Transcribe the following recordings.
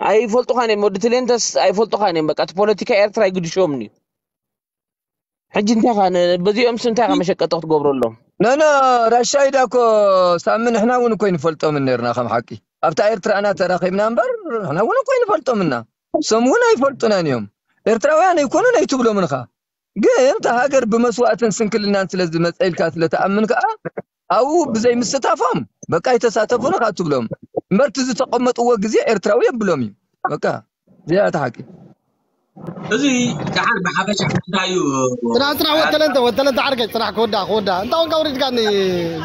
ኣይፈልጡኻን እዮም። ወዲ ትሌንተስ ኣይፈልጡኻን እዮም። በቃ እቲ ፖለቲካ ኤርትራ ኣይግድሾምን እዩ። ሕጂ እንታይ ኻ ነ-፣ በዚኦም ስ እንታይ ኻ መሸቀጢ ክትገብረሎም? ኖ ኖ፣ ራሻይዳ እኮ ሳሚ፣ ንሕና እውን እኮ ኣይንፈልጦምን ነርና ከም ሓቂ። ኣብታ ኤርትራና ተራኺብና እምበር ንሕና እውን እኮ ኣይንፈልጦምና። እሶም እውን ኣይፈልጡናን እዮም። ኤርትራውያን ኣይኮኑን ኣይትብሎምን ኻ። ግን እታ ሃገር ብመስዋእትን ስንክልናን ስለ ዝመፀ ኢልካ ስለ ትኣምን ከዓ ኣብኡ ብዘይ ምስታፎም በቃ ኣይተሳተፉን ኻ ትብሎም እምበር እቲ ዝተቐመጥዎ ግዜ ኤርትራዊ የብሎም እዩ። በቃ እዚኣ እታ ሓቂ። እዚ ደሓን ብሓፈሻ እንታይ እዩ? ጽናሕ ጽናሕ ወተለንተ ወተለንተ ዓርከይ ጽናሕ ክወዳ ክወዳ እንታ ወንካ ወሪድካኒ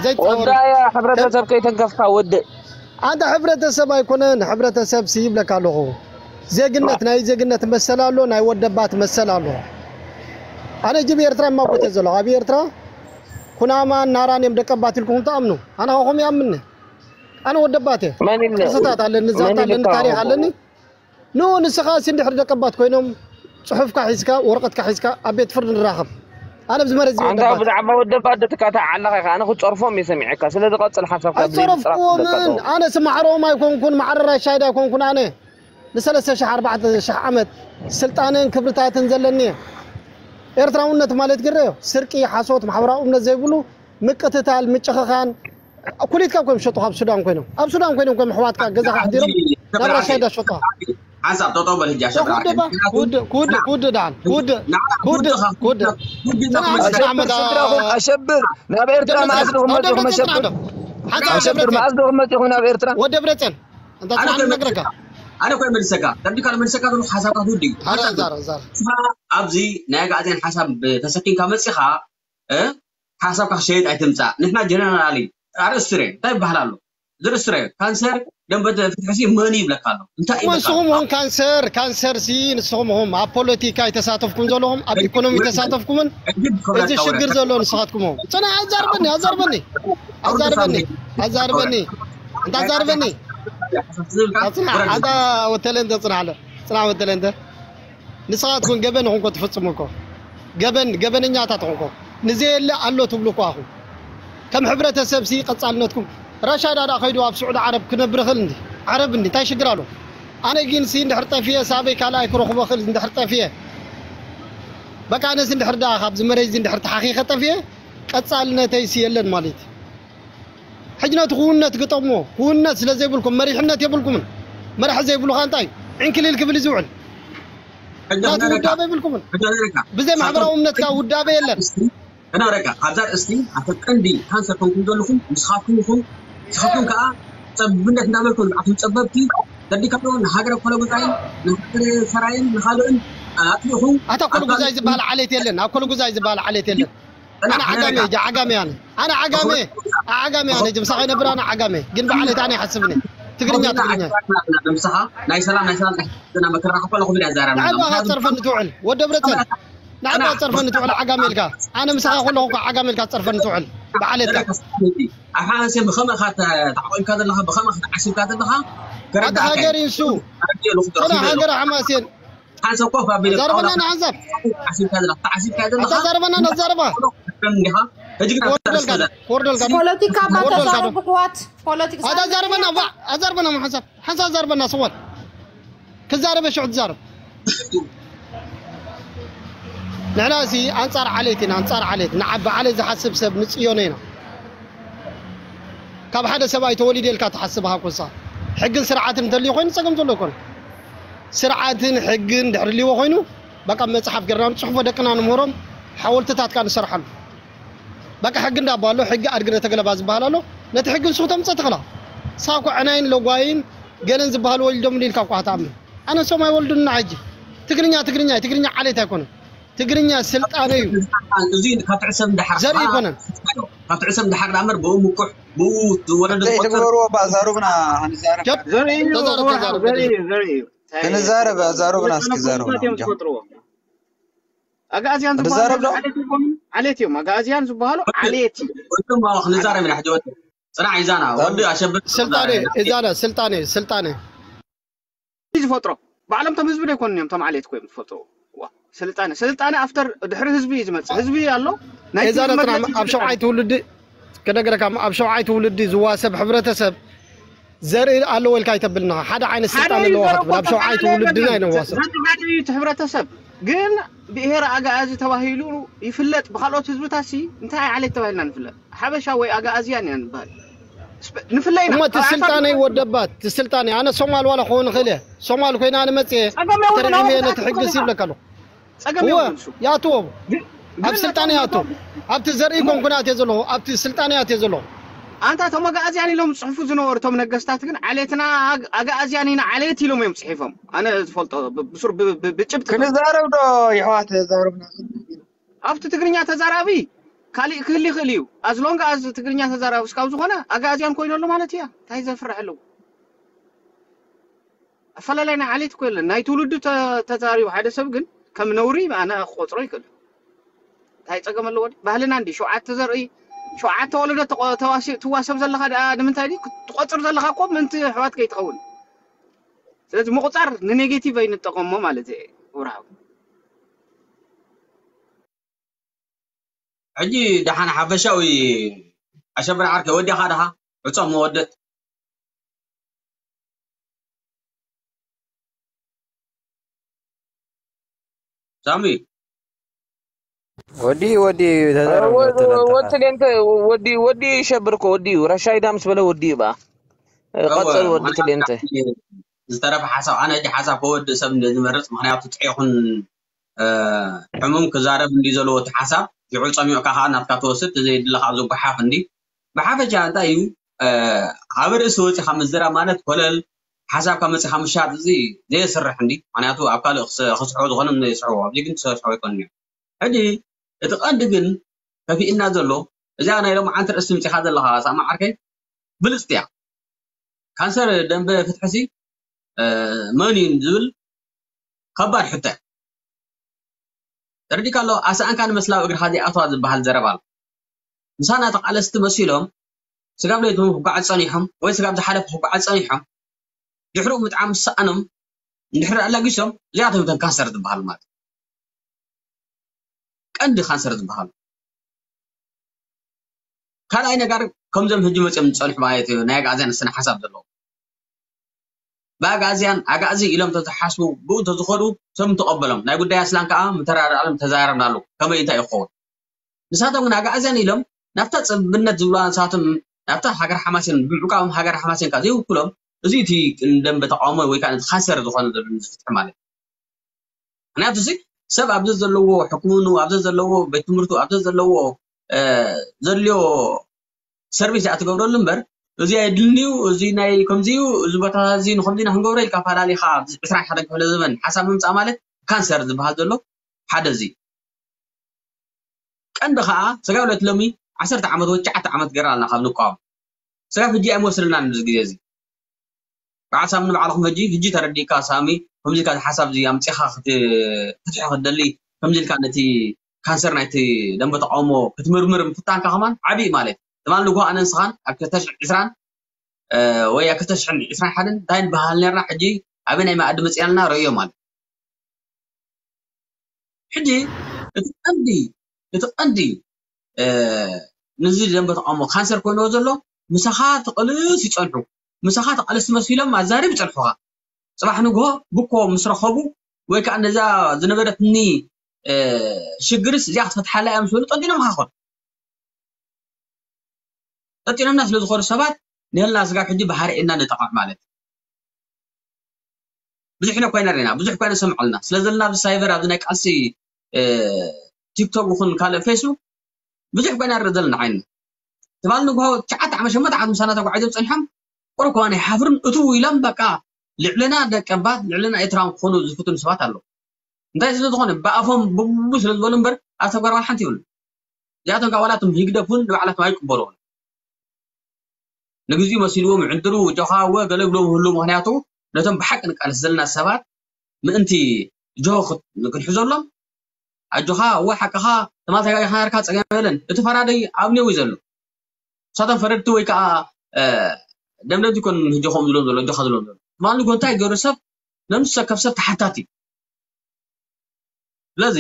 ዘይት ወዳያ ሕብረተሰብ ከይተንከፍካ ወድእ። ኣንታ ሕብረተሰብ ኣይኮነን፣ ሕብረተሰብ ሲ ይብለካ ኣለኹ። ዜግነት ናይ ዜግነት መሰል ኣሎ፣ ናይ ወደባት መሰል ኣሎ። ኣነ ጅብ ኤርትራ የማጎተ ዘሎ ኣብ ኤርትራ ኩናማን ናራን እዮም ደቀባት ኢልኩም ትኣምኑ። ኣነ ኻኹም ይኣምኒ። ኣነ ወደባት እየ። መን ኢለ ቅርስታት ኣለኒ፣ ዛታ መን ኣለኒ፣ ኢልካ ታሪኽ ኸምኡ? ኣለኒ። ኑ ንስኻ ሲ እንድሕር ደቀባት ኮይኖም ጽሑፍካ ሒዝካ ወረቐትካ ሒዝካ ኣብ ቤት ፍርዲ ንራኸብ። ኣነ ኣብዚ መሬት እዚ ኣንታ ወደባት ብዛዕባ ወደባት ደትካታ ዓላኻ ኢኻ። ኣነ ክጸርፎም እየ ሰሚዐካ። ስለዚ ቀጽል ሓሳብካ ብዘይ ምጽራፍ ኣይጸረፍኩዎምን። ትደቀቕ። ኣነ ሲ ማዕረኦም ኣይኮንኩን፣ ማዕረ ራሻይድ ኣይኮንኩን። ኣነ ንሰለስተ ሺሕ ኣርባዕተ ሺሕ ዓመት ስልጣነን ክብርታትን ዘለኒ እየ። ኤርትራውነት ማለት ግረዮ ስርቂ፣ ሓሶት፣ ማሕበራዊ እምነት ዘይብሉ ምቅትታል፣ ምጭኽኻን ኩሊትካ እኮ እዮም ዝሸጡ ካብ ሱዳን ኮይኖም። ኣብ ሱዳን ኮይኖም እኮ እዮም ኣሕዋትካ ገዛኻ ኣሕዲሮም ናብ ራሻይዳ ዝሸጡኻ። ሓንሳብ ጠጠው በል ህጂ ኣሸብራ ክውድእ ባ ክውድእ ክውድእ ክውድእ ደሓን ክውድእ ክውድእ ክውድእ ጽናሕ ኣሸብር መዳ ስድራኹም ኣሸብር ናብ ኤርትራ ደብረ መዓስ ጽዮን ዲኹም ወደ መጺኹም ደብረ ጽዮን ኣሸብር ዓዶ ሓንሳብ ኣሸብር ደብረ መዓስ ዲኹም መጺኹም ናብ ኤርትራ? ወደ ደብረ ጽዮን እንታ ኣነ ጽናሕ ኮይነ ነግረካ ኣነ ኮይነ መልሰካ ተርዲካ መልሰካ ዘሎ ሓሳባት ውዲ ሓዛ ዛረ ዛረ ንስኻ ኣብዚ ናይ ኣጋዜን ሓሳብ ተሰኪምካ መፂኻ እ ሓሳብካ ክሸየጥ ኣይትምፃእ። ንሕና ጀነራል እዩ ኣርእስቲ ረ እንታይ ይበሃል ኣሎ? ዝርእስቲ ረ ካንሰር ደንበ ፍትሕሲ መን ይብለካ ኣሎ? እንታይ ይብለካ ኣሎ? ንስኹም ኹም ካንሰር ካንሰር ሲ ንስኹም ኹም ኣብ ፖለቲካ ይተሳተፍኩም ዘለኹም ኣብ ኢኮኖሚ ተሳተፍኩምን ሕጂ እዚ ክብረካ ሽግር ወረካ ዘሎ ንስኻትኩም ኹም ጽና ኣዛርበኒ ኣዛርበኒ ኣዛርበኒ ኣዛርበኒ እንታ ኣዛርበኒ ዝብልካ ጽና ኣዛ ወተለንተ ጽና ኣለ ጽና ወተለንተ ንስኻትኩም ገበን ኹም እኮ ትፍጽሙ እኮ ገበን ገበነኛታት ኹም እኮ ንዘየለ ኣሎ ትብሉ እኮ ኣኹም ከም ሕብረተሰብ ሲ ቀጻልነትኩም ራሻዳ ዳ ከይዱ ኣብ ስዑዲ ዓረብ ክነብር ኽእል እንዲ ዓረብ እንዲ እንታይ ሽግር ኣሎ ኣነ ግን ሲ እንድሕር ጠፍየ ሳበይ ካልኣይ ክረኽቦ ኽእል እንድሕር ጠፍየ በቃ ኣነስ እንድሕር ዳ ካብዚ መሬት እዚ እንድሕር ተሓኺኸ ጠፍየ ቀጻልነተይ ሲ የለን ማለት እዩ ሕጂ ነቲ ክውነት ግጠሞ ክውነት ስለ ዘይብልኩም መሪሕነት የብልኩምን መራሒ ዘይብሉ ካ እንታይ ዕንክሊል ክብል እዩ ዝውዕል ናቲ ውዳበ የብልኩምን ብዘይ ማሕበራዊ እምነትካ ውዳበ የለን እና ረጋ ኣብዛ ርእስቲ ኣቶ ቀንዲ ካንሰር ኮንኩም ዘለኹም ንስኻትኩም ኢኹም ንስኻትኩም ከዓ ፀብብነት እንዳበልኩም ንዓኹም ፀበብቲ ተዲካዶ ንሃገረ ኮለጉዛይን ንሃገረ ሰራይን ንኻልኦን ኣጥሊኹም ኣታ ኮለጉዛይ ዝበሃል ዓሌት የለን ኣብ ኮለጉዛይ ዝበሃል ዓሌት የለን ኣነ ዓጋመ እየ ዓጋመ ኣነ ኣነ ዓጋመ ዓጋመ ኣነ ጅምሳ ከይነብር ኣነ ዓጋመ ግን ብዓሌት ኣነ ይሓስብኒ ትግርኛ ትግርኛ ምሳኻ ናይ ሰላም ናይ ሰላም ናይ ሕክምና መከራ ከፋለ ኩብዳ ዛራ ንዓባ ጸርፈኒ ትውዕል ወደ ብረተን ንዓባ ጸርፈኒ ትውዕል ዓጋመ ኢልካ ኣነ ምሳኻ ከለኹ እኮ ዓጋመ ኢልካ ጸርፈኒ ትውዕል ብዓሌትካ ኣብ ሓንሴ ብኸመኻ ተዓቆብካ ዘለኻ ብኸመኻ ተዓሲብካ ዘለኻ ኣታ ሃገር ይንሱ ጸና ሃገር ሓማሴን ሓንሳብ ኮፍ ኣቢለ ዘርበና ንሓንሳብ ተዓሲብካ ዘለኻ ተዓሲብካ ዘለኻ ኣታ ዘርበና ነዛርባ እንዲኻ ሕጂ ግን ኣብታ ክወርደልካ ርእሲ ክወርደልካ ፖለቲካ ባታ ክወርደልካ ሰርብ ክዋት ፖለቲካ ኣታ ዘርበና ባ ኣዘርበና ሓንሳብ ሓንሳብ ዘርበና ስወል ክዛረበ ሽዑ ትዛረብ ንሕና ሲ ኣንጻር ዓሌት ኢና ኣንጻር ዓሌት ንዓቢ ዓሌት ዝሓስብ ሰብ ንጽዮኖ ኢና ካብ ሓደ ሰብኣይ ተወሊደ ኢልካ ትሓስብ ሃኮሳ ሕግን ስርዓትን እንተልዩ ኮይኑ ጸገም ዘሎ ይኮነ ስርዓትን ሕግን ድሕሪ ልዎ ኮይኑ በቃ መጽሓፍ ገርና ንጽሕፎ ደቅና ንምህሮም ሓወልትታትካ ንሰርሓሉ በቃ ሕጊ እንዳባ ኣሎ ሕጊ ኣድግደ ተገለባ ዝበሃል ኣሎ ነቲ ሕጊ ንስኹ ተምፀ ትኽላ ሳኮ ዕናይን ለጓይን ገለን ዝበሃል ወሊዶም ኢልካ እኳ ትኣምን ኣነ ሶም ኣይወልዱና ሕጂ ትግርኛ ትግርኛ ትግርኛ ዓሌት ኣይኮነን ትግርኛ ስልጣነ እዩ እዚ ካብ ትዕሰብ እንዳሓር ዘርኢ ኣይኮነን ካብ ትዕሰብ እንዳሓር ዳመር ብኡ ምኩሕ ብኡ ዝወለደ ዘይትግበርዎ ባዛሩብና ንዛረብ ጀብ ዘርኢ እዩ ተዛረብ እዋ፣ ተዛረብ ዘርኢ እዩ ዘርኢ እዩ ክንዛረብ ኣዛሩብና እስኪ ዛረብ እዮም ዝፈጥርዎ ኣጋእዝያን ዝበሃሉ ንዛረብ ዶ ዓሌት ይኾኑ ዓሌት እዮም ኣጋእዝያን ዝበሃሉ ዓሌት እዩ ወንድም ማወ ክንዛረብ ኢና ሕጂ ወዲ ፅናዕ ይዛና ወዲ ኣሸብር ስልጣነ እዛነ ስልጣነ ስልጣነ ዝፈጥሮ ባዕሎም ቶም ህዝቢ ዶ ይኮኑ እዮም ቶም ዓሌት ኮይም ዝፈጥርዎ ዋ፣ ስልጣነ ስልጣነ ኣፍተር ድሕሪ ህዝቢ እዩ ዝመፅእ ህዝቢ ኣሎ ናይ እዛነ ጥና ኣብ ሸውዓይ ትውልዲ ክነገረካ ኣብ ሸውዓይ ትውልዲ ዝዋሰብ ሕብረተሰብ ዘርኢ ኣለዎ ኢልካ ኣይተብልና። ሓደ ዓይነት ስልጣን ኣለዎ ክትብል ኣብ ሸውዓይ ትውልድና ይነዋሰብ። ዘተጋደዩ እቲ ሕብረተሰብ ግን ብሄር ኣጋኣዚ ተባሂሉ ይፍለጥ። ብካልኦት ህዝብታት ሲ እንታይ ዓይነት ተባሂልና ንፍለጥ? ሓበሻ ወይ ኣጋኣዝያን ኢና ንበሃል። ንፍለይና እሞ እቲ ስልጣነይ ወደባት እቲ ስልጣነይ ኣነ ሶማል ዋላ ክኾን ይኽእል እየ። ሶማል ኮይና ንመፅእ ጸገም የብሉን። ተርዒመ ነቲ ሕግስ ይብለካ ኣለኹ። ጸገም እወ የብሉን እሱ። ይኣትዎ ግን- ኣብ ግን ስልጣነ ነቶም- ይኣትዎ። ኣብቲ ዘርኢ ኮንኩን ኣትየ ዘለኹ ኣብቲ ስልጣነ ኣትየ ዘለኹ። ኣንታ እቶም ኣጋኣዝያን ኢሎም ዝፅሕፉ ዝነበሩ እቶም ነገስታት ግን ዓሌትና ኣግ- ኣጋኣዝያን ኢና ዓሌት ኢሎም እዮም ፅሒፎም። ኣነ ዝፈልጦ ብ- ብሱር ብ- ብ- ብጭብጢ ክንዛረብ ዶ ይሕዋት ዛረብና ኣብቲ ትግርኛ ተዛራቢ ካሊእ ክህል ይኽእል እዩ። ኣዝሎንጋ ኣዚ ትግርኛ ተዛራቢ እስካብ ዝኾነ ኣጋኣዝያን ኮይኑ ኣሎ ማለት እያ። እንታይ ዘፍርሕ ኣለዎ? ኣፈላላይ ናይ ዓሌት እኮ የለን። ናይ ትውልዱ ተ- ተዛሪቡ ሓደ ሰብ ግን ከም ነውሪ ኣነ ክቆፅሮ ይኽእል። እንታይ ፀገም ኣለዎ? ድዩ? ባህልና እንዲ ሸውዓተ ዘርኢ ሸውዓተ ወለዶ ተቆ- ተዋሲ- ትዋሰብ ዘለኻ ደኣ ንምንታይ ድዩ ክትቆፅር ዘለኻ እኮ ምንቲ ኣሕዋት ከይትኸውን። ስለዚ ምቁፃር ንኔጌቲቭ ኣይንጠቀሞ ማለት እየ። ውርሃብ ሕጂ ደሓን ሓፈሻዊ ኣሸብር ዓርከ ወዲኻ ደኻ ዕጾም መወደት ሳሚ ወዲ ወዲ ተዛረብ ወ- ወተለንተኻ ወትሌንተ ወዲ ወዲ ይሸብር እኮ ወዲ እዩ። ረሻይዳ ምስ በለ ወዲ እዩ በኣ እወ፣ ቀጸል ወዲ ምኽንያቱ ትሌንተ ዝተረፈ ሓሳብ ኣነ ሕጂ ሓሳብ ከወድእ ሰብ እንደ ዝመርጽ ምኽንያቱ ጥዑይ ይኹን እ፣ ሕሙም ክዛረብ እንዲ ዘለዎ እቲ ሓሳብ ሽዑ ጸሚቕካ ከዓ ናትካ ትወስድ እቲ ዘየድሊ ከዓ ዝጓሓፍ እንዲ ብሓፈሻ እንታይ እዩ እ፣ ካብ ርእሲ ወፂኻ ምዝራብ ማለት ኮለል ሓሳብካ መፂኻ ምሻጥ እዚ ዘየስርሕ እንዲ ምክንያቱ ኣብ ካልእ ክስ- ክስሕቦ ዝኾነ ዘይስሕቦ ኣብዚ ግን ዝስሕቦ ኣይኮንን እዩ ሕጂ እቲ ቀንዲ ግን ከፊእና ዘሎ እዚኣ ናይ ሎምዓንቲ ርእሲ ምፂኻ ዘለኻ ሳማ ዓርከይ ብልፅቲ እያ ካንሰር ደንበ ፍትሕሲ መን እዩ ዝብል ከባድ ሕቶ ተረዲካ ኣሎ ኣስኣንካ ንመስላዊ እግርኻ ዘይኣትዋ ዝበሃል ዘረባ ኣሎ ምሳና ተቃለስቲ መሲሎም ስጋብ ለይቶም ክጓዓዝ ፀኒሖም ወይ ስጋብ ዝሓለፈ ክጓዓዝ ፀኒሖም ድሕሪኡ ምጥዓም ዝሰኣኖም እንድሕር ኣላጊሶም እዚኣቶም እተን ካንሰር ዝበሃሉ ማለት ቀንዲ ካንሰር ዝበሃሉ ካልኣይ ነገር ከምዞም ሕጂ መፅኦም ዝፀንሑ ማለት እዩ ናይ ኣግኣዝያን ስነ ሓሳብ ዘለዎ ብኣግኣዝያን ኣግኣዚ ኢሎም ተዝሓስቡ ብኡ እንተዝኸዱ ሰብ ምተቐበሎም ናይ ጉዳይ ኣስላን ከዓ ምተራዳኣሎም ተዛረብናሉ ከመይ እንታይ ይኸውን ንሳቶም ግን ኣግኣዝያን ኢሎም ናብታ ፅብነት ዝብልዋ ንሳቶም ናብታ ሃገር ሓማሴን ብምዕቃቦም ሃገር ሓማሴን ከዓ ዘይውክሎም እዚ እቲ ደንበ ተቃውሞ ወይ ከዓ ካንሰር ዝኾነ ዘሎ ዝፍትሒ ማለት ምክንያቱ እዚ ሰብ ኣብዚ ዘለዎ ሕክምኑ ኣብዚ ዘለዎ ቤት ትምህርቱ ኣብዚ ዘለዎ ዘድልዮ ሰርቪስ እያ ትገብረሉ እምበር እዚ ኣይድልንዩ እዚ ናይ ከምዚዩ እዚ ቦታ እዚ ንከምዚ ኢና ክንገብሮ ኢልካ ፈላሊኻ ዕስራን ሓደን ክፍለ ዘበን ሓሳብ ምምፃእ ማለት ካንሰር ዝበሃል ዘሎ ሓደ እዚ ቀንዲ ከዓ ስጋብ ዕለት ሎሚ ዓሰርተ ዓመት ወይ ትሽዓተ ዓመት ገይርና ኣለና ካብ ንቃወም ስጋብ ሕጂ ኣይመስልናን እዚ ግዜ እዚ በዓል ሳሚ ንባዕልኹም ሕጂ ሕጂ ተረዲእካ ሳሚ ከምዚ ኢልካ እዚ ሓሳብ እዚ ኣምፂኻ ክትፍትሒ ክትደሊ ከምዚ ኢልካ ነቲ ካንሰር ናይቲ ደንበ ተቃውሞ ክትምርምር ምፍታንካ ከማን ዓብዪ ማለት ትማል ንግሆ ኣነ ንስኻን ኣብ ክልተ ሽሕን ዕስራን ወይ ኣብ ክልተ ሽሕን ዕስራን ሓደን እንታይ ንበሃል ነርና ሕጂ ኣበይ ናይ መኣዲ መፅእና ኣለና ረእዮ ማለት ሕጂ እቲ ቀንዲ እቲ ቀንዲ ነዚ ደንበ ተቃውሞ ካንሰር ኮይንዎ ዘሎ ምሳኻ ተቐልስ ይፀንሑ ምሳኻ ተቃለስቲ መሲሎም ኣዛርብ ይፀንሑኻ ፅባሕ ንግሆ ብኮ ምስ ረኸቡ ወይ ከዓ ነዛ ዝነበረትኒ ሽግርስ እዚኣ ክትፈትሓላ እያ ምስ በሉ ጠንጢኖም ሃኾን ጠጢኖምና ስለ ዝኾኑ ሰባት ንህልና ስጋብ ሕጂ ብሃርኤና ንጠቕዕ ማለት ብዙሕ ነ ኮይና ርና ብዙሕ ኮይና ሰምዓልና ስለ ዘለና ኣብዚ ሳይበር ኣብዚ ናይ ቃልሲ ቲክቶክ ይኹን ካልእ ፌስቡክ ብዙሕ ኮይና ርእ ዘለና ዓይንና ትማል ንግሆ ትሽዓተ ዓመት ሸሞንተ ዓመት ምሳና ተጓዒዞም ፀኒሖም ቁሩብ ከማን ኣይሓፍርን እትው ኢሎም በቃ ልዕልና ደቀባት ልዕልና ኤርትራን ክኾኑ ዝፍትኑ ሰባት ኣለዉ እንታይ ስለ ዝኾነ ብኣፎም ብቡ ስለ ዝበሉ እምበር ኣብ ተግባር ዋላ ሓንቲ ይብሉ እዚኣቶም ካብ ዋላቶም ህግደፍ እውን ንባዕላቶም ኣይቅበልዎን ንግዚኡ መሲልዎም ይዕንድሩ ጆኻ እወ ገለ ይብሎም ይህሉ ምክንያቱ ነቶም ብሓቂ ንቃለስ ዘለና ሰባት ምእንቲ ጆ ክንሕዘሎም ኣጆኻ እወ ሓቅኻ ትማል ተጋጊኻ ነርካ ፀገም የለን እቲ ፈራደይ ኣብ ኔው እዩ ዘሎ ንሳቶም ፈረድቲ ወይ ከዓ ደምደምቲ ኮን ህጆ ከም ዝብሎም ዘሎ እጆኻ ዝብሎም ዘሎ ትማል ንጎ እንታይ ገይሩ ሰብ ነምሱ ሰብ ከም ሰብ ተሓታቲ እዩ ስለዚ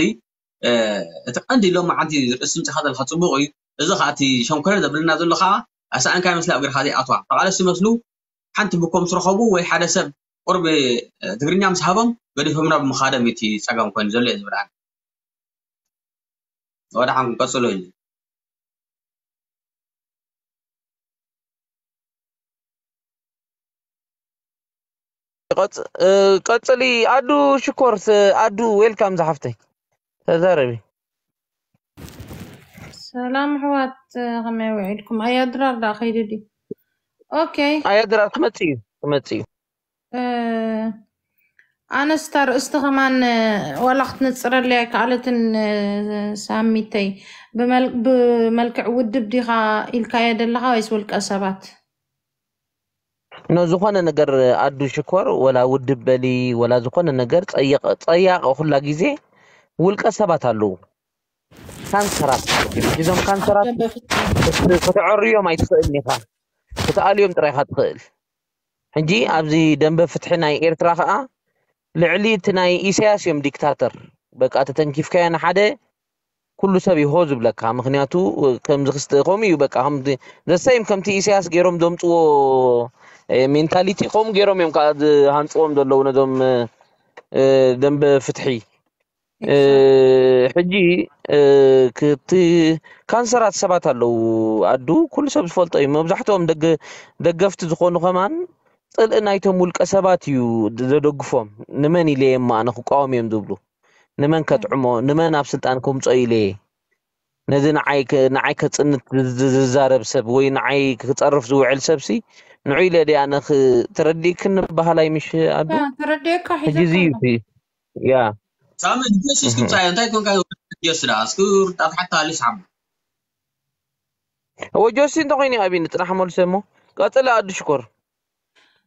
እቲ ቀንዲ ሎም መዓልቲ ርእሲ ምፅኻ ዘለካ ፅቡቅ እዩ እዚ ከዓ እቲ ሸንኮረ ዘብልና ዘሎ ከዓ ኣሰኣንካ ይመስላ እግርካ ዘይኣትዋ ተቃለስ ይመስሉ ሓንቲ ብኮም ዝረኸቡ ወይ ሓደ ሰብ ቁርቢ ትግርኛ ምስ ሃቦም ገዲፎምና ብምኻዶም እቲ ጸገም ኮይኑ ዘሎ እየ ዝብል ኣነ። ወደ ሓንኩም ቀጽሎ እዩ። ቀጽሊ ኣዱ ሽኮር ኣዱ ዌልካም ዝሓፍተይ ተዛረቢ። ሰላም ኣሕዋት፣ ከመይ ውዒልኩም? ኣያ ድራር ዳ ከይዱ ድዩ? ኦኬ። ኣያ ድራር ክመጽእ እዩ ክመጽእ እዩ። ኣነስ እታ ርእስቲ ከማን ዋላ ክትነፅረለይ ኣይከኣለትን። ሳሚተይ፣ ብመልክዕ ውድብ ዲኻ ኢልካዮ ዘለኻ ወይስ ውልቀ ሰባት? ኖ ዝኾነ ነገር ኣዱ ሽኮር ወላ ውድብ በሊ ወላ ዝኾነ ነገር ፀያቂ ኩላ ግዜ ውልቀ ሰባት ኣለዉ። ካንሰራት እዮም። እዞም ካንሰራት ክትዕርዮም ኣይትኽእልን ኢኻ፣ ክትኣልዮም ጥራይ ኢኻ ትኽእል። ሕጂ ኣብዚ ደንበ ፍትሒ ናይ ኤርትራ ከዓ ልዕሊ እቲ ናይ ኢሳያስ እዮም ዲክታተር። በቃ ተተንኪፍካዮ ንሓደ ኩሉ ሰብ ይሆ ዝብለካ። ምክንያቱ ከምዚ ክስተ ከምኡ እዩ በቃ። ከምዚ ዘሳይም ከምቲ ኢሳያስ ገይሮም ዘምፅዎ ሜንታሊቲ ከምኡ ገይሮም እዮም ከዓ ዝሃንፅዎም ዘለዉ ነዞም ደንበ ፍትሒ። ሕጂ ክቲ ካንሰራት ሰባት ኣለዉ ኣዱ ኩሉ ሰብ ዝፈልጦ እዩ። መብዛሕትኦም ደገፍቲ ዝኾኑ ከማን ፅልኢ ናይቶም ውልቀ ሰባት እዩ ዘደግፎም። ንመን ኢለ እየ እሞ ኣነ ክቃወም እዮም ዝብሉ? ንመን ከጥዕሞ? ንመን ኣብ ስልጣን ከምፅኦ ኢለ እየ? ነዚ ንዓይ ከ- ንዓይ ከፅንት ዝ- ዝዛረብ ሰብ ወይ ንዓይ ክፀርፍ ዝውዕል ሰብሲ ንዑ ኢለ ድየ ኣነ ክ- ተረዲእክኒ በሃላይ ምሽ ኣዱ? ተረዲእካ ሕጂ እዚ እዩ ሒዘካ እቲ ያ ሳሚ ጆሲ እስኪ እህ። ምጻዮ እንታይ ኮንካ ጆሲ ደኣ እስኪ ርጣት ሓታ ኣሊስ ሓማ እወ ጆሲ እንተኮይኑ እዩ ኣብኒ ፅናሕ መልሰ እሞ ቀፅለ ኣዱ ሽኮር።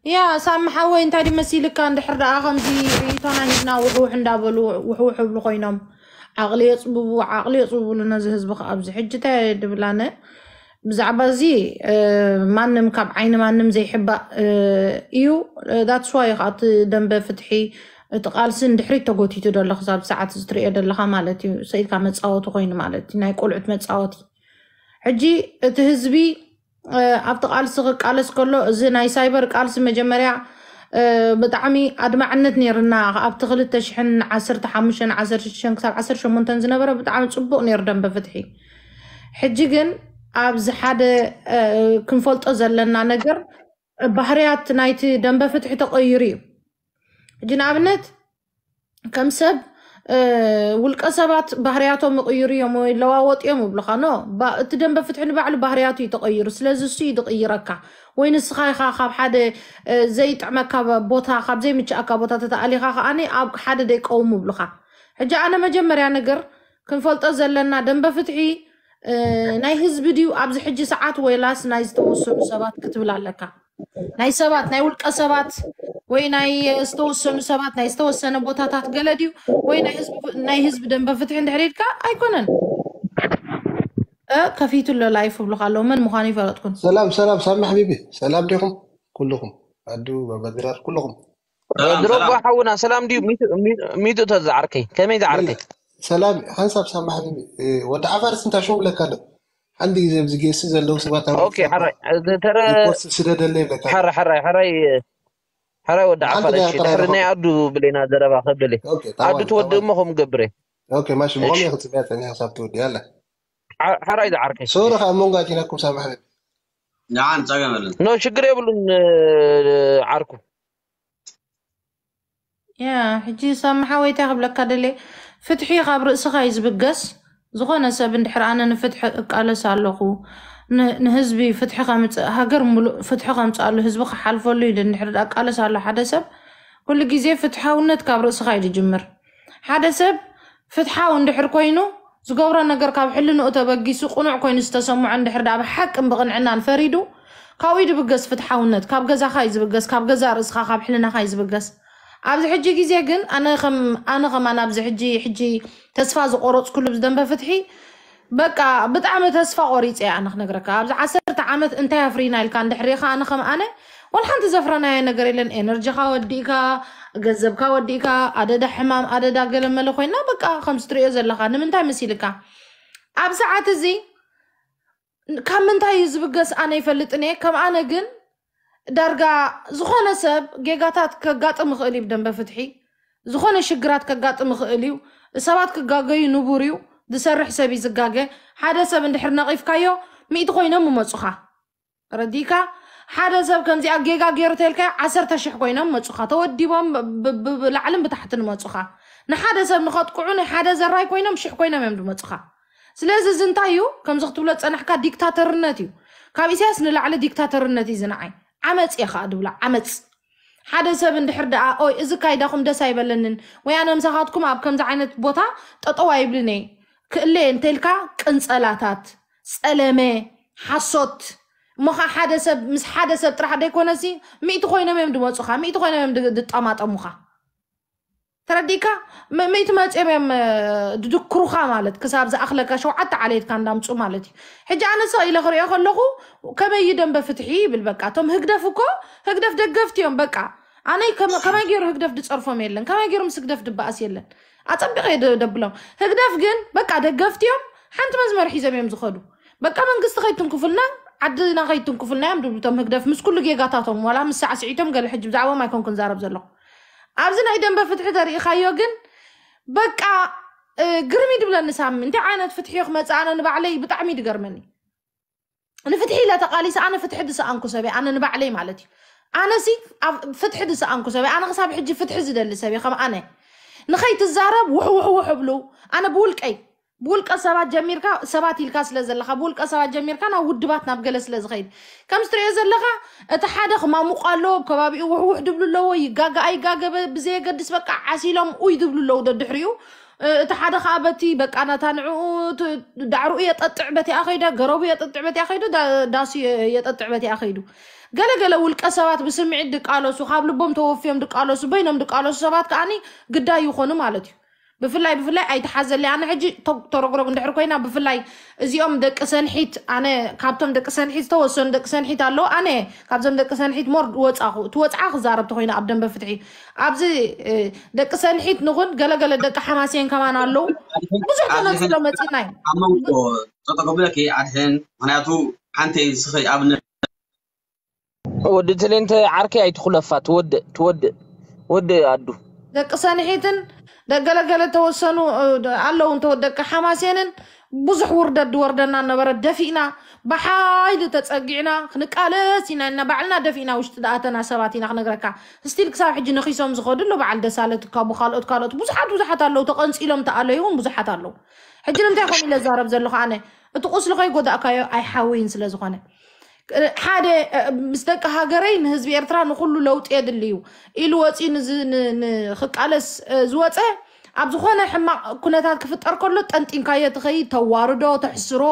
ያ ሳሚ ሓወይ እንታይ ድዩ መሲልካ? እንድሕር ደኣ ከምዚ ርእይቶና ሂብና ውሕውሕ እንዳበሉ ውሕውሕ ይብሉ ኮይኖም ዓቕሊ የፅብቡ ዓቕሊ የፅብቡሉ ነዚ ህዝቢ ከ ኣብዚ ሕጂ እንታይ ድብል ኣነ ብዛዕባ እዚ እ፣ ማንም ካብ ዓይኒ ማንም ዘይሕባእ እ፣ እዩ። That's why ከዓ እቲ ደንበ ፍትሒ እቲ ቃልሲ ንድሕሪት ተጎቲቱ ዘሎ ክሳብ ሰዓት እዚ ትሪኦ ዘለኻ ማለት እዩ። ሰኢልካ መፃወቲ ኮይኑ ማለት እዩ፣ ናይ ቆልዑት መፃወቲ። ሕጂ እቲ ህዝቢ ኣብቲ ቃልሲ ክቃለስ ከሎ እዚ ናይ ሳይበር ቃልሲ መጀመርያ ብጣዕሚ ኣድማዕነት ነይርና ኣብቲ ክልተ ሽሕን ዓሰርተ ሓሙሽተን ዓሰርተ ሽዱሽተን ክሳብ ዓሰርተ ሸሞንተን ዝነበረ ብጣዕሚ ፅቡቅ ነይሩ ደንበ ፍትሒ። ሕጂ ግን ኣብዚ ሓደ ክንፈልጦ ዘለና ነገር ባህርያት ናይቲ ደንበ ፍትሒ ተቀይሩ እዩ። ሕጂ ንኣብነት ከም ሰብ ውልቀ ሰባት ባህርያቶም ይቕይሩ እዮም ወይ ይለዋወጡ እዮም ይብሉኻ። ኖ፣ እቲ ደንበ ፍትሒ ንባዕሉ ባህርያቱ እዩ ተቐይሩ። ስለዚ እሱ እዩ ዝቕይረካ። ወይ ንስኻ ኢኻ ካብ ሓደ ዘይጥዕመካ ቦታ፣ ካብ ዘይምችኣካ ቦታ ተተኣሊኻ ከኣ ኣብ ሓደ ደይቀውሙ ይብሉኻ። ሕጂ ኣነ መጀመርያ ነገር ክንፈልጦ ዘለና ደንበ ፍትሒ ናይ ህዝቢ ድዩ ኣብዚ ሕጂ ሰዓት ወይላስ ናይ ዝተወሰኑ ሰባት ክትብል ኣለካ? ናይ ሰባት ናይ ውልቀ ሰባት ወይ ናይ ዝተወሰኑ ሰባት ናይ ዝተወሰነ ቦታታት ገለ ድዩ ወይ ናይ ህዝቢ ደንበ ፍትሒ እንድሕር ኢልካ ኣይኮነን። ከፊቱ ኣሎ ላይፍ ብሉካ ኣለዉ መን ምዃኑ ይፈለጥኩን። ሰላም ሰላም ሳሚ ሓቢቢ ሰላም ዲኹም ኩልኹም ኣዱ መበድራር ኩልኹም ድሮባ ሓውና ሰላም ድዩ? ሚቱ ተዝዓርከይ ከመይ ዝዓርከይ? ሰላም ሓንሳብ ሳሚ ሓቢቢ ወዲ ዓፋርስ እንታይ ሽሙ ብለካ ኣሎ ሓንቲ ግዜ ኣብዚ ጌሲ ዘለዉ ሰባት ኣብ ኦኬ ሓራይ ተረ ሪፖርት ስደደለይ ይብለካ ኣሎ። ሓራይ ሓራይ ሓራይ ሓራይ ወዲ ሓንቲ ዓፋር ናይ እሺ ኣጠራርባ ድሕሪ ናይ ኣዱ ብሌና ዘረባ ከብል ኦኬ፣ ታዋል ኣዱ ትወድእ ታዋል እሞ ከም ገብረ ኦኬ ማሽ ብኸምኡ እሺ ኢኹም ፅብያ ፀኒሐ ክሳብ ትወዲ ያለ ሓ- ሓራይ ዝዓርከይ ሶሪ ከዓ ሞንጋ ቲናኩም ሳሚ ሓቢቢ ንዓን ጸገም የለን። ኖ ችግር የብሉን ዓርኩ ያ ሕጂ ሳሚ ሓወይ እንታይ ክብለካ ደልየ ፍትሒ ካብ ርእስኻ እዩ ዝብገስ። ዝኾነ ሰብ እንድሕር ኣነ ንፍትሒ እቃለስ ኣለኹ ን- ንህዝቢ ፍትሒ ከምፅእ ሃገር ሙሉእ ፍትሒ ከምፅኣሉ ህዝቢ ክሓልፈሉ ኢሉ እንድሕር እቃለስ ኣሎ ሓደ ሰብ ኩሉ ግዜ ፍትሓውነት ካብ ርእስኻ እዩ ዝጅምር። ሓደ ሰብ ፍትሓዊ እንድሕር ኮይኑ ዝገብሮ ነገር ካብ ሕልንኡ ተበጊሱ ቅኑዕ ኮይኑ ዝተሰምዖ እንድሕር ደኣ ብሓቅን ብቕንዕናን ፈሪዱ ካብኡ እዩ ዝብገስ ፍትሓውነት። ካብ ገዛኻ እዩ ዝብገስ፣ ካብ ገዛ ርእስኻ ካብ ሕልናኻ እዩ ዝብገስ። ኣብዚ ሕጂ ግዜ ግን ኣነ ከም ኣነ ከማን ኣብዚ ሕጂ ሕጂ ተስፋ ዝቆረፅኩሉ ብዝደንበ ፍትሒ በቃ ብጣዕሚ ተስፋ ቆሪፀ እየ ኣነ ክነግረካ ኣብዚ ዓሰርተ ዓመት እንታይ ኣፍሪና ኢልካ እንድሕር ሪኢኻ ኣነ ከም ኣነ ወላ ሓንቲ ዘፍረናዮ ነገር የለን። ኤነርጂኻ ወዲእካ፣ ገንዘብካ ወዲእካ፣ ኣደዳ ሕማም ኣደዳ ገለመለ ኮይና በቃ ከምዚ ትሪኦ ዘለኻ ንምንታይ መሲልካ ኣብ ሰዓት እዚ ካብ ምንታይ እዩ ዝብገስ ኣነ ይፈልጥን እየ። ከም ኣነ ግን ዳርጋ ዝኾነ ሰብ ጌጋታት ከጋጥም ይኽእል እዩ። ብደንበ ፍትሒ ዝኾነ ሽግራት ከጋጥም ይኽእል እዩ። ሰባት ክጋገዩ ንቡር እዩ። ዝሰርሕ ሰብ እዩ ዝጋገ። ሓደ ሰብ እንድሕር ነቒፍካዮ፣ ሚእቲ ኮይኖም ይመፁኻ። ረዲካ? ሓደ ሰብ ከምዚኣ ጌጋ ገይሩ ተልካዮ፣ ዓሰርተ ሽሕ ኮይኖም መፁኻ። ተወዲቦም ብ- ብ- ብ- ብላዕልን ብታሕትን መፁኻ። ንሓደ ሰብ ንኸጥቅዑ፣ ናይ ሓደ ዘራይ ኮይኖም ሽሕ ኮይኖም እዮም ዝመፁኻ። ስለዚ እዚ እንታይ እዩ? ከምዚ ክትብሎ ዝፀናሕካ ዲክታተርነት እዩ። ካብ ኢሳያስ ንላዕሊ ዲክታተርነት እዩ ዝንዓይ። ዓመፅ እየ ከዓ ድብሎ፣ ዓመፅ። ሓደ ሰብ እንድሕር ደኣ ኦይ፣ እዚ ካይዳኹም ደስ ኣይበለንን፣ ወይ ኣነ ምሳኻትኩም ኣብ ከምዚ ዓይነት ቦታ ጠጠው ኣይብልን እየ፣ ክእለ እየ እንተልካ፣ ቅንፀላታት፣ ፀለመ፣ ሓሶት። እሞ ኸዓ ሓደ ሰብ ምስ ሓደ ሰብ ጥራሕ ደይኮነሲ፣ ሚእቲ ኮይኖም እዮም ድመፁኻ፣ ሚእቲ ኮይኖም እዮም ድ- ድጠማጠሙኻ። ተረዲእካ? ም- ሚእቲ መፅዮም እዮም እ፣ ድድክሩኻ ማለት፣ ክሳብ ዝኣኽለካ ሸውዓተ ዓሌትካ እንዳምፁ ማለት እዩ። ሕጂ ኣነ ስቕ ኢለ ክሪኦ ከለኹ፣ ከመይ እዩ ደንበ ፍትሒ ይብል። በቃ እቶም ህግደፍ እኮ፣ ህግደፍ ደገፍቲ እዮም። በቃ ኣነይ ከመ- ከመይ ገይሩ ህግደፍ ድፀርፎም የለን፣ ከመይ ገይሩ ምስ ህግደፍ ድበኣስ የለን። ኣፀቢቐ እየ ደ- ደብሎም። ህግደፍ ግን በቃ ደገፍቲ እዮም። ሓንቲ መስመር ሒዞም እዮም ዝኸዱ። በቃ መንግስቲ ከይትንክፉልና፣ ዓድና ከይትንክፉልና እዮም ድብሉ እቶም ህግደፍ፣ ምስ ኩሉ ጌጋታቶም። ዋላ ምስ ሳዕስዒቶም ገለ፣ ሕጂ ብዛዕባኦም ኣይኮንኩን ዛረብ ዘለኹ። ኣብዚ ናይ ደንበ ፍትሒ ተሪኢኻዮ ግን በቃ እ፣ ግርም እዩ ድብለኒ ሳሚ። እንታይ ዓይነት ፍትሒ እዩ ክመፅእ? ኣነ ንባዕለይ ብጣዕሚ እዩ ድገርመኒ። ንፍትሒ ኢለ ተቃሊሰ፣ ኣነ ፍትሒ ድሰኣንኩ ሰብ እየ፣ ኣነ ንባዕለይ ማለት እዩ። ኣነ ሲ ኣብ ፍትሒ ድሰኣንኩ ሰብ እየ። ኣነ ክሳብ ሕጂ ፍትሒ ዝደሊ ሰብ እየ። ከም ኣነ ንኸይትዛረብ ውሕ ውሕ ውሕ እብሉ። ኣነ ብውልቀይ፣ ብውልቀ ሰባት ጀሚርካ፣ ሰባት ኢልካ ስለ ዘለኻ፣ ብውልቀ ሰባት ጀሚርካ ናብ ውድባት፣ ናብ ገለ ስለ ዝኸይድ፣ ከምዚ ትሪኦ ዘለኻ፣ እቲ ሓደ ክማሙቕ ኣለዎ፣ ኣብ ከባቢኡ ውሕ ውሕ ድብሉ ኣለዎ፣ ይጋገ ኣይጋገ በ- ብዘየገድስ በቃ ዓሲሎም ኡይ ድብሉ ኣለዉ ደድሕሪኡ። እ፣ እቲ ሓደ ኸዓ በቲ በቃ ናታ ንዕኡ፣ እቲ ዳዕርኡ የጠጥዕ በቲኣ ኸይዳ፣ ገረቡ የጠጥዕ በቲኣ ኸይዱ፣ ዳ- ዳሱ የ- የጠጥዕ በቲኣ ኸይዱ። ገለገለ ውልቀ ሰባት ብስምዒት ድቃለሱ፣ ካብ ልቦም ተወፍዮም ድቃለሱ፣ በይኖም ድቃለሱ ሰባት ከዓኒ ግዳይ ይኾኑ ማለት እዩ። ብፍላይ ብፍላይ ኣይትሓዘለይ። ኣነ ሕጂ ቶ- ተረግረግ እንድሕር ኮይና፣ ብፍላይ እዚኦም ደቂ ሰንሒት፣ ኣነ ካብቶም ደቂ ሰንሒት ዝተወሰኑ ደቂ ሰንሒት ኣለዉ። ኣነ ካብዞም ደቂ ሰንሒት ሞር ወፃኹ፣ እቲ ወፅዓ ክዛረብ ተኮይና ኣብ ደንበ ፍትሒ ኣብዚ እ፣ ደቂ ሰንሒት ንኹን፣ ገለገለ ደቂ ሓማሴን ከማን ኣለዉ። ብዙሕ ተነፂሎ መፂና እዩ። ኣብ መንጎ ጠጠው ክብለኪ ኣድሕን፣ ምክንያቱ ሓንቲ ስኸይ ኣብነት ወዲ ትሌንተ ዓርከይ ኣይትኹለፋ፣ ትወድእ ትወድእ ወድእ ኣዱ። ደቂ ሰንሒትን ደገለገለ ተወሰኑ እ፣ ኣለዉ እንተ ደቂ ሓማሴንን ብዙሕ ውርደት ድወርደና ነበረ። ደፊእና ብሓይሊ ተፀጊዕና ክንቃለስ ኢና ኢልና ባዕልና ደፊእና ውሽጢ ድኣተና ሰባት ኢና ክነግረካ። ስቲል ክሳብ ሕጂ ነኺሶም ዝኸዱ ኣሎ በዓል ደሳለ ትካቡ ካልኦት ካልኦት ብዙሓት ብዙሓት ኣለዉ። ተቐንፂሎም ተኣለዩ እውን ብዙሓት ኣለዉ። ሕጂ ንምንታይ ከምኡ ኢለ ዛረብ ዘለኹ ኣነ እቲ ቁስሊ ከይጎዳእካዮ ኣይሓውይን ስለ ዝኾነ ሓደ እ፣ ምስ ደቂ ሃገረይ ንህዝቢ ኤርትራ ንኩሉ ለውጢ የድሊ እዩ ኢሉ ወፂኡ ንዝ- ን- ንክቃለስ እ፣ ዝወፀ ኣብ ዝኾነ ሕማቕ ኩነታት ክፍጠር ከሎ ጠንጢንካዮ ትኸይድ፣ ተዋርዶ፣ ተሕስሮ፣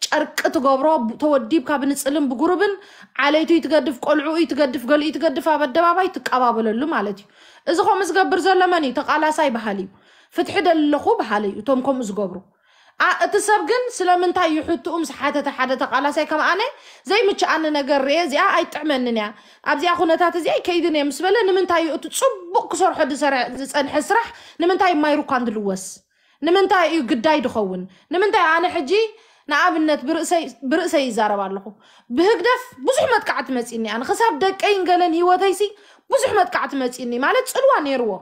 ጨርቂ ትገብሮ፣ ብ- ተወዲብካ ብንፅልን ብጉሩብን ዓለይቱ ይትገድፍ፣ ቆልዑ ይትገድፍ፣ ገሊኡ ይትገድፍ ኣብ ኣደባባይ ትቀባበለሉ ማለት እዩ። እዚ ከምኡ ዝገብር ዘሎ መን እዩ? ተቃላሳይ በሃሊ እዩ። ፍትሒ ደለኹ በሃሊ እዩ እቶም ከምኡ ዝገብሩ። ኣ- እቲ ሰብ ግን ስለምንታይ እዩ ሕትኡ ምስ ሓተተ ሓደ ተቃላሳይ ከም ኣነ ዘይምችኣኒ ነገር ርኤ እዚኣ ኣይጥዕመንን እያ ኣብዚኣ ኩነታት እዚኣ ይከይድን እየ ምስ በለ ንምንታይ እዩ እቲ ፅቡቅ ክሰርሖ ዝሰረ- ዝፀንሐ ስራሕ ንምንታይ ማይሩኳን ድልወስ ንምንታይ እዩ ግዳይ ድኸውን ንምንታይ ኣነ ሕጂ ንኣብነት ብርእሰይ ብርእሰይ ይዛረብ ኣለኹ ብህግደፍ ብዙሕ መጥቃዕቲ መፂኒ ኣነ ክሳብ ደቀይን ገለን ህይወተይሲ ብዙሕ መጥቃዕቲ መፂኒ ማለት ፅልዋ ነይርዎ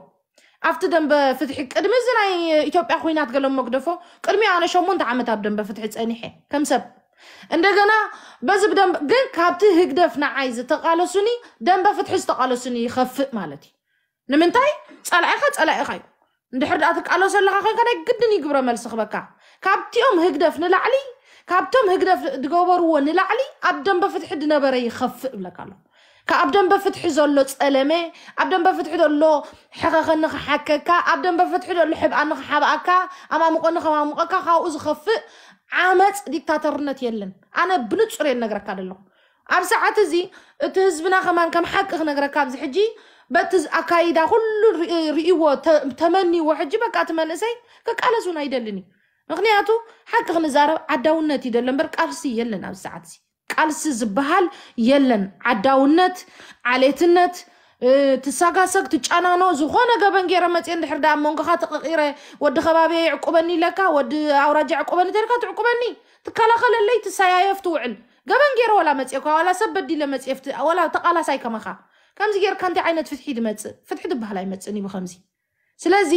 ኣብቲ ደንበ ፍትሒ ቅድሚ እዚ ናይ ኢትዮጵያ ኩናት ገለ መግደፎ ቅድሚ ኣነ ሸሞንተ ዓመት ኣብ ደንበ ፍትሒ ፀኒሐ ከም ሰብ እንደገና በዚ ብደንበ ግን ካብቲ ህግደፍ ንዓይ ዝተቃለሱኒ ደንበ ፍትሒ ዝተቃለሱኒ ይኸፍእ ማለት እዩ ንምንታይ ፀላኢኻ ፀላኢኻ እዩ እንድሕር ደኣ ትቃለሶ ኣለኻ ኮይንካ ናይ ግድን እዩ ግብረ መልሲ ክበካ ካብቲኦም ህግደፍ ንላዕሊ ካብቶም ህግደፍ ዝገበርዎ ንላዕሊ ኣብ ደንበ ፍትሒ ድነበረ ይኸፍእ እብለካ ኣለኹ ካብ ደንበ ፍትሒ ዘሎ ጸለመ ኣብ ደንበ ፍትሒ ዘሎ ሕኸኸኒ ክሓከካ ኣብ ደንበ ፍትሒ ዘሎ ሕብኣኒ ክሓብኣካ ኣማሙቐኒ ከማሙቐካ ካብኡ ዝኸፍእ ዓመፅ ዲክታተርነት የለን ኣነ ብንፁር እየ ነግረካ ዘለኹ ኣብ ሰዓት እዚ እቲ ህዝብና ከማን ከም ሓቂ ክነግረካ ኣብዚ ሕጂ በቲ ኣካይዳ ኩሉ ርእይዎ ተመንዎ ሕጂ በቃ እቲ መንእሰይ ክቃለስ እውን ኣይደልን እዩ ምክንያቱ ሓቂ ክንዛረብ ዓዳውነት እዩ ደሎ እምበር ቃልሲ የለን ኣብዚ ሰዓት እዚ ቃልሲ ዝበሃል የለን። ዓዳውነት፣ ዓሌትነት፣ ትሳጋሰግ፣ ትጫናኖ፣ ዝኾነ ገበን ገይረ መፅየ እንድሕር ደኣ ኣብ መንጎኻ ተቐቒረ ወዲ ከባቢ የዕቁበኒ ኢለካ፣ ወዲ ኣውራጃ የዕቁበኒ ተልካ ትዕቁበኒ፣ ትከላኸለለይ፣ ትሰያየፍ ትውዕል። ገበን ገይረ ዋላ መፅእኳ ዋላ ሰብ በዲለ መፅእፍቲ ዋላ ተቃላሳይ ከማኻ ከምዚ ጌርካ እንታይ ዓይነት ፍትሒ ድመፅእ? ፍትሒ ድበሃል ኣይመፅእን እዩ ብከምዚ። ስለዚ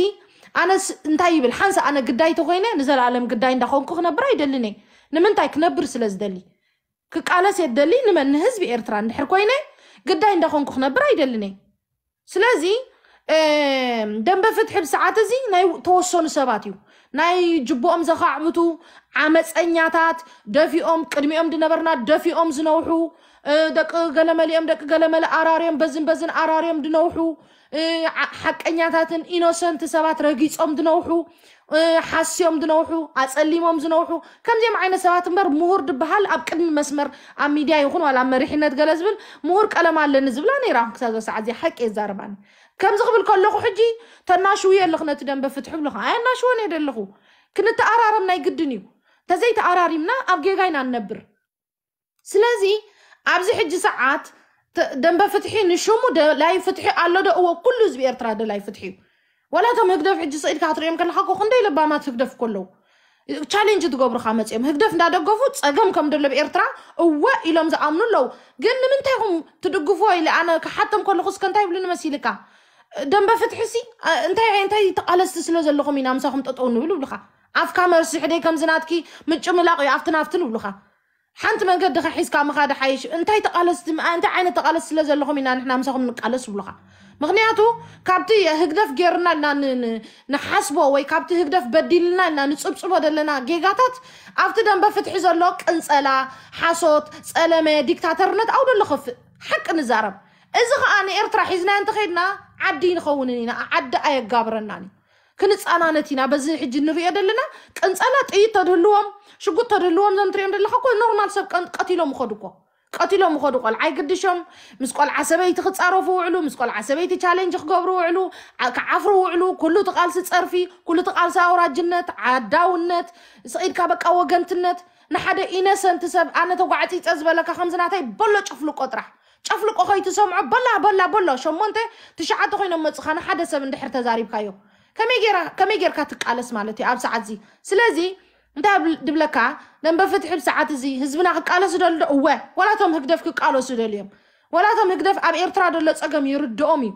ኣነስ እንታይ ይብል ሓንሳ ኣነ ግዳይ ተኮይነ ንዘለኣለም ግዳይ እንዳኾንኩ ክነብር ኣይደልን እየ። ንምንታይ ክነብር ስለ ዝደሊ ክቃለስ እየ ዝደሊ። ንመን ንህዝቢ ኤርትራ እንድሕር ኮይነ ግዳይ እንዳኾንኩ ክነብር ኣይደልን እየ። ስለዚ ደንበ ፍትሒ ብሰዓት እዚ ናይ ተወሰኑ ሰባት እዩ ናይ ጅቦኦም ዘኻዕብቱ ዓመፀኛታት ደፊኦም ቅድሚኦም ድነበርና ደፊኦም ዝነውሑ ደቂ ገለመሊኦም ደቂ ገለመለ ኣራርዮም በዝን በዝን ኣራርዮም ድነውሑ ሓቀኛታትን ኢኖሰንት ሰባት ረጊፆም ድነውሑ ሓስዮም ድነውሑ ኣፀሊሞም ዝነውሑ ከምዚኦም ዓይነት ሰባት እምበር ምሁር ድበሃል ኣብ ቅድሚ መስመር ኣብ ሚድያ ይኹን ዋላ ኣብ መሪሕነት ገለ ዝብል ምሁር ቀለም ኣለኒ ዝብላ ነይራ ክሳብ ሰዓት እዚኣ ሓቂ የዛረባኒ ከምዚ ክብል ከለኹ ሕጂ ተናሽውዮ ኣለኹ ነቲ ደንበ ፍትሒ ብለኹ ኣየናሽወን እየ ደለኹ ክንተኣራረም ናይ ግድን እዩ ተዘይተኣራሪምና ኣብ ጌጋ ኢና ንነብር ስለዚ ኣብዚ ሕጂ ሰዓት ደንበ ፍትሒ ንሽሙ ደላይ ፍትሒ ኣሎ ዶ እዎ ኩሉ ህዝቢ ኤርትራ ደላይ ፍትሒ እዩ ዋላ እቶም ህግደፍ ሕጂ ስኢድካ ክትሪኦም ከለካ እኮ ክንደይ ለባማት ህግደፍ እኮ ኣለዉ ቻሌንጅ ትገብሩካ መፅኦም ህግደፍ እንዳደገፉ ፀገም ከም ደሎ ብኤርትራ እወ ኢሎም ዝኣምኑ ኣለዉ ግን ንምንታይ ኢኹም ትድግፍዎ ኢለ ኣነ ክሓቶም ከለኹ እስከ እንታይ ይብሉኒ መሲልካ ደንበ ፍትሒ ሲ እንታይ እንታይ ተቃለስቲ ስለ ዘለኹም ኢና ምሳኹም ጠጠው ንብል ይብሉካ ኣፍካ መርሲ ሕደይ ከምዚ ናትኪ ምጭምላቕ እዩ ኣብቲ ናፍትን ይብሉካ ሓንቲ መንገዲ ከሒዝካ ምኻድ ሓይሽ እንታይ ተቃለስቲ እንታይ ዓይነት ተቃለስቲ ስለ ዘለኹም ኢና ንሕና ምሳኹም ንቃለስ ይብሉኻ ምክንያቱ ካብቲ ህግደፍ ጌርና ኢልና ንሓስቦ ወይ ካብቲ ህግደፍ በዲልና ኢልና ንፅብፅቦ ዘለና ጌጋታት ኣብቲ ደንበ ፍትሒ ዘሎ ቅንፀላ ሓሶት ፀለመ ዲክታተርነት ኣው ደሎ ከፍእ ሓቂ ንዛረብ እዚ ከዓ ንኤርትራ ሒዝና እንተኸድና ዓዲ ንኸውንን ኢና ዓዲ ኣየጋብረናን እዩ ክንፃናነት ኢና በዚ ሕጂ ንሪኦ ዘለና ቅንፀላ ጥይት ተድህልዎም ሽጉጥ ተድህልዎም ዘም ትሪኦም ዘለካ ኮ ኖርማል ሰብ ቀን- ቀቲሎም ይኸዱ እኮ ቀቲሎም ይኸዱ ቆልዓ ይግድሾም ምስ ቆልዓ ሰበይቲ ክፃረፉ ውዕሉ ምስ ቆልዓ ሰበይቲ ቻሌንጅ ክገብሩ ውዕሉ ዓ- ክዓፍሩ ውዕሉ ኩሉ እቲ ቃልሲ ፀርፊ ኩሉ እቲ ቃልሲ ኣውራጅነት ዓዳውነት ስቂድካ በቃ ወገንትነት ንሓደ ኢነሰንት ሰብ ኣነ ተጓዕፂፀ ዝበለካ ከምዚ ናተይ በሎ ጨፍልቆ ጥራሕ ጨፍልቆ ከይትሰምዖ በላ በላ በሎ ሸሞንተ ትሽዓተ ኮይኖም መፅኻ ንሓደ ሰብ እንድሕር ተዛሪብካዮ ከመይ ጌራ ከመይ ጌርካ ትቃለስ ማለት እዩ ኣብ ሰዓት እዚ ስለዚ እንታይ ድብለካ ደንበ ፍትሒ ብሰዓት እዚ ህዝብና ክቃለሱ ደልዶ እወ ወላቶም ህግደፍ ክቃለሱ ደልዮም ወላቶም ህግደፍ ኣብ ኤርትራ ደሎ ፀገም ይርድኦም እዩ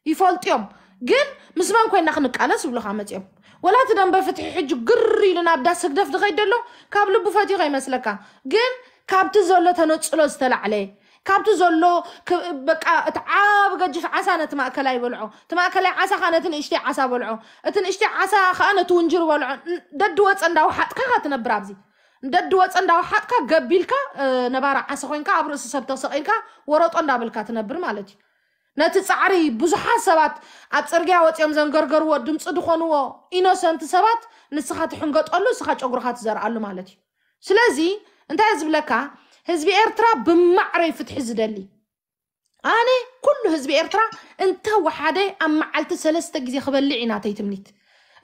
ይፈልጥዮም ግን ምስ መን ኮይና ክንቃለስ ይብሉካ መፅኦም ወላ እቲ ደንበ ፍትሒ ሕጂ ግር ኢሉ ናብ ዳስ ህግደፍ ዝኸይድ ደሎ ካብ ልቡ ፈትዩ ከይመስለካ ግን ካብቲ ዘሎ ተነፅሎ ዝተላዕለ ካብቲ ዘሎ በቃ እቲ ዓብ ገጅፍ ዓሳ ነቲ ማእከላይ በልዖ እቲ ማእከላይ ዓሳ ከዓ ነቲ ንእሽተይ ዓሳ በልዖ እቲ ንእሽተይ ዓሳ ከዓ ነቲ ውንጅር በልዖ ደዲ ወፀ እንዳወሓጥካ ኢካ ትነብር ኣብዚ ደዲ ወፀ እንዳወሓጥካ ገቢልካ ነባራ ዓሳ ኮይንካ ኣብ ርእሲ ሰብ ተሰቂልካ ወረጦ እንዳበልካ ትነብር ማለት እዩ ነቲ ጻዕሪ ብዙሓት ሰባት ኣብ ጽርግያ ወጺኦም ዘንገርገርዎ ድምጺ ዝኾንዎ ኢኖሰንት ሰባት ንስኻ ትሕንገጠሉ ንስኻ ጨጉርኻ ትዘርኣሉ ማለት እዩ ስለዚ እንታይ ዝብለካ ህዝቢ ኤርትራ ብማዕረይ ፍትሒ ዝደሊ ኣነ ኩሉ ህዝቢ ኤርትራ እንተ ወሓደ ኣብ መዓልቲ ሰለስተ ግዜ ክበልዕ ኢና ተይ ትምኒት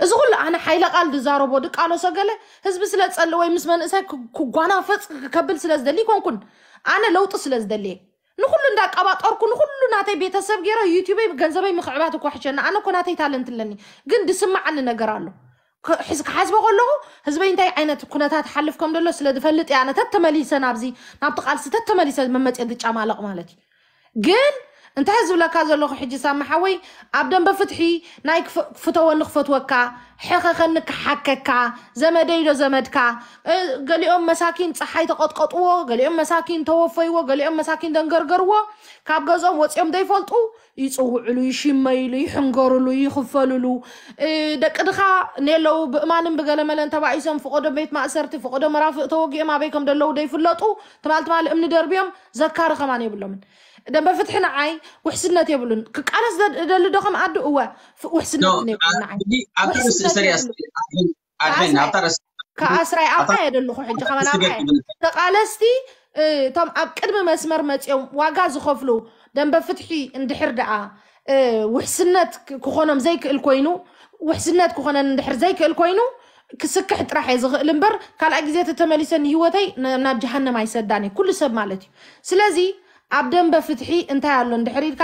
እዚ ኩሉ ኣነ ሓይለ ቃል ዝዛረቦ ድቃሎ ሰገለ ህዝቢ ስለ ጸሊ ወይ ምስ መንእሰይ ክጓናፈጽ ከብል ስለ ዝደሊ ይኮንኩን ኣነ ለውጢ ስለ ዝደልየ ንኩሉ እንዳቀባጠርኩ ንኩሉ ናተይ ቤተሰብ ገይረ ዩቲበይ ገንዘበይ ምክዕባት እኮ ሕሸና ኣነ እኮ ናተይ ታለንት ኣለኒ ግን ድስማዓኒ ነገር ኣሎ ክሓስቦ ከለኹ ህዝበይ እንታይ ዓይነት ኩነታት ሓልፍ ከም ዘሎ ስለ ዝፈልጥ እያ ኣነ ተተመሊሰ ናብዚ ናብቲ ቃልሲ ተተመሊሰ መመፅኦ ዝጫማለቕ ማለት እዩ ግን እንታይ ዝብለካ ዘለኹ ሕጂ ሳሚ ሓወይ ኣብ ደንበ ፍትሒ ናይ ክፍተወኒ ክፈትወካ ሕኸኸኒ ክሓከካ ዘመደይ ዶ ዘመድካ ገሊኦም መሳኪን ፀሓይ ተቐጥቀጥዎ ገሊኦም መሳኪን ተወፈይዎ ገሊኦም መሳኪን ደንገርገርዎ ካብ ገዝኦም ወፂኦም ዘይፈልጡ ይፅውዕሉ ይሽመይሉ ይሕንገርሉ ይኽፈልሉ ደቂ ድኻ ኔለዉ ብእማንን ብገለመለን ተባኢሶም ፍቆዶ ቤት ማእሰርቲ ፍቆዶ መራፍእ ተወጊኦም ኣበይ ከም ደለዉ ደይፍለጡ ትማል ትማል እምኒ ደርብዮም ዘካሪ ከማን የብሎምን ደንበ ፍትሒ ንዓይ ውሕስነት የብሉን ክቃለስ ደሊ ዶ ከም ኣዱ እወ ውሕስነት የብሉን ንዓይ ኣብታ ርእሲ ሰሪያ ኣድሕን ኣብታ ርእሲ ከኣስራይ ኣብታ የደለኹ ሕጂ ከማን ኣብታ ተቃለስቲ እቶም ኣብ ቅድሚ መስመር መፂኦም ዋጋ ዝኸፍሉ ደንበ ፍትሒ እንድሕር ደኣ ውሕስነት ክኾኖም ዘይክእል ኮይኑ ውሕስነት ክኾነን እንድሕር ዘይክእል ኮይኑ ክስክሕ ጥራሕ እየ ዝኽእል እምበር ካልኣይ ግዜ ተተመሊሰ ንሂወተይ ናብ ጀሃነም ኣይሰዳን እየ ኩሉ ሰብ ማለት እዩ ስለዚ ኣብ ደንበ ፍትሒ እንታይ ኣሎ እንድሕር ኢልካ